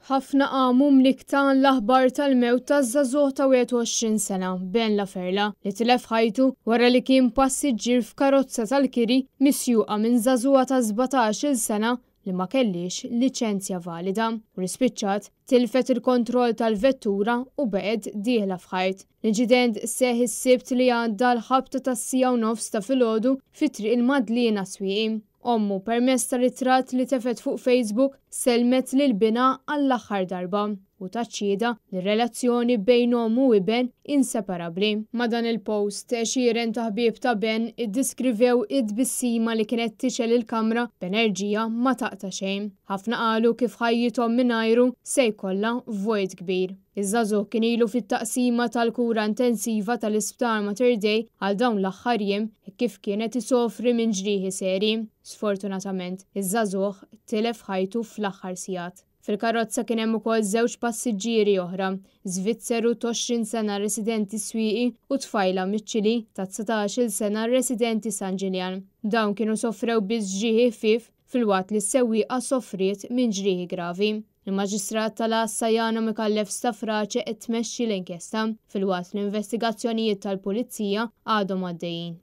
Ħafna qamu mnikkta għall-aħbar tal-mewt taż-żagħżugħ ta' 21 sena, Ben Laferla, li tilef ħajtu wara li kien passiġġier f'karozza tal-kiri misjuqa minn żagħżugħa ta' 17-il sena li ma kellhiex liċenzja valida u li spiċċat tilfet il-kontroll tal-vettura u baqgħet dieħla f'ħajt. L-inċident seħħ is-Sibt li għadda għall-ħabta tas-siegħa u nofs ta' filgħodu fi Triq il-Madliena Swieqi. Ommu, permezz ta' ritratt li tefgħet fuq Facebook, sellmet lil binha għall-aħħar darba u tat xhieda li r-relazzjoni bejn omm u iben inseparabbli. Ma' dan il-post, għexieren ta' ħbieb ta' Ben iddiskrivew it-tbissima li kienet tixgħel il-kamra b'enerġija ma taqta' xejn. Ħafna qalu kif ħajjithom mingħajru se jkollha vojt kbir. Iż-żagħżugħ kien ilu fit-taqsima tal-kura intensiva tal-Isptar Mater Dei għal dawn l-aħħar jiem hekk kif kien qed isofri minn ġrieħi serji. Sfortunatament, iż-żagħżugħ tilef ħajtu fl-aħħar sigħat. Fil-karozza kien hemm ukoll żewġ passiġġieri oħra, Żvizzeru t'20 sena residenti Swieqi u tfajla miċ-Ċili ta' 19-il sena residenti San Ġiljan. Dawn kienu sofrew biss ġrieħi ħfief filwaqt li s-sewwieqa sofriet minn ġrieħi gravi. Il-Maġistrat tal-Għassa Jana Micallef Stafrace qed tmexxi l-inkjesta, filwaqt li investigazzjonijiet tal-Pulizija għadhom għaddejjin.